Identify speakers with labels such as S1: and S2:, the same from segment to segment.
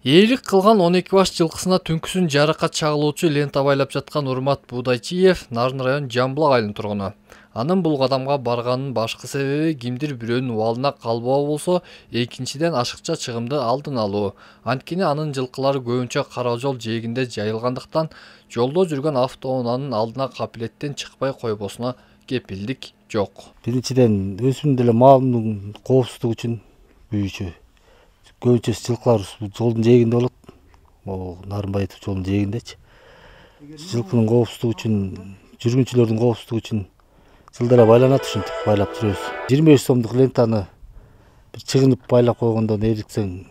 S1: Ээлик кылган 12 баш жылкысына түнкүсүн жаракат чагылуучу лента байлап жаткан Урмат Будайчиев Нарын район Жамбылак айылынын тургуну. Анын бул кадамга барганын башкы себеби кимдир бирөөнүн убалына калбоо болсо, экинчиден ашыкча чыгымды алдын алуу. Анткени анын жылкылары көбүнчө кара жол жээгинде жайылгандыктан жолдо жүргөн автоунаанын алдына капилеттен чыкпай койбосуна кепилдик жок.
S2: Биринчиден өзүмдүн деле малымдын коопсуздугу үчүн büyücü. Көбүнчө жылкылар жолдун жээгинде болот. Могу Нарынбаев жолдун жээгиндечи. Жылкынын коопсуздугу үчүн, жүргүнчүлөрдүн коопсуздугу үчүн жылдара байланат, ушинтип байлап жүрөбүз. 25 сомдук лентаны бир чыгынып байлап койгондон эриксең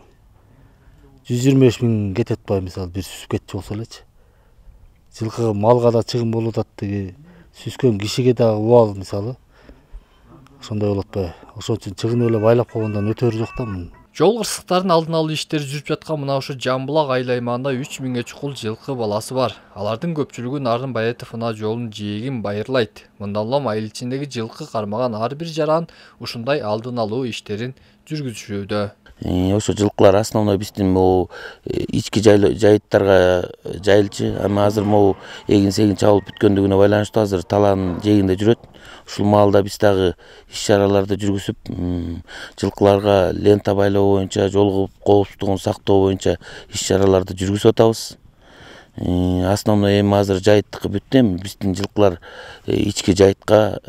S2: 125 миң кетет бай, мисалы бир сүзүп кетчү болсо элечи. Жылкыга, малга да чыгым болуп атат, тиги сүзгөн кишиге дагы убал, мисалы. Ошондой болот бай. Ошон үчүн чыгынып эле байлап койгондон өтөрү жок да мунун.
S1: Жол кырсыктарын алдын алуу иштери жүрүп жаткан мына ушу Жамбылак айыл аймагында 3000ге чукул жылкы баласы бар. Алардын көпчүлүгү Нарын Баетов ына жолунун жээгин байырлайт. Мындан улам айыл ичиндеги жылкы кармаган ар бир жаран ушундай алдын алуу иштерин жүргүзүшүүдө.
S3: Ошо жылкылар основной биздин могу ички жайыттарга жайылчу. Ама азыр могу эгин-сегин чабылып бүткөндүгүнө байланыштуу азыр талаанын жээгинде жүрөт. Ушул маалда биз дагы иш-чараларды жүргүзүп, жылкыларга лента байлоо боюнча, жол коопсуздугун сактоо боюнча иш-чараларды жүргүзүп атабыз. Основной эми азыр жайыттыкы бүттү, эми биздин жылкылар ички жайытка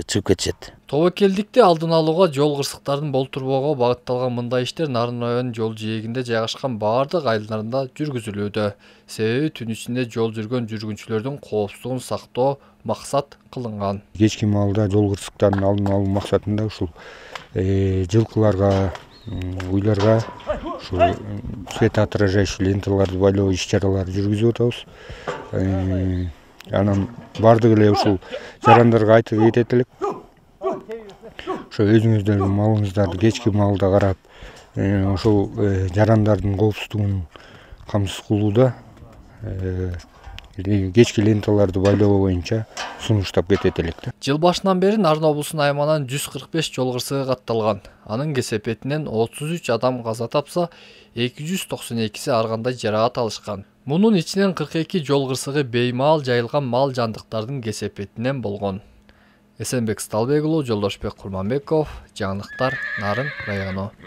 S3: чыгып кетишет.
S1: Тобокелдикти алдын алууга, жол кырсыктарын болтурбоого багытталган мындай иштер Нарын районунун жол жээгинде жайгашкан бардык айылдарында жүргүзүлүүдө. Себеби түн ичинде жол жүргөн жүргүнчүлөрдүн коопсуздугун сактоо максат кылынган.
S4: Кечки маалда жол кырсыктарын алдын алуу максатында ушул жылкыларга, уйларга ушул светоотражающий ленталарды байлоо иш-чараларды жүргүзүп атабыз. Анан бардык эле ушул жарандарга айтып кетет элек. Ошо өзүңүздөрдүн малыңыздарды кечки маалда карап, ошол жарандардын коопсуздугун камсыз кылууда кечки ленталарды байлоо боюнча сунуштап кетет элек да.
S1: Жыл башынан бери Нарын облусунун аймагынан 145 жол кырсыгы катталган. Анын кесепетинен 33 адам каза тапса, 292си ар кандай жаракат алышкан. Мунун ичинен 42 жол кырсыгы беймаал жайылган мал жандыктардын кесепетинен болгон. Эсенбек Сталбек уулу, Жолдошбек Курманбеков, жаңылыктар, Нарын району.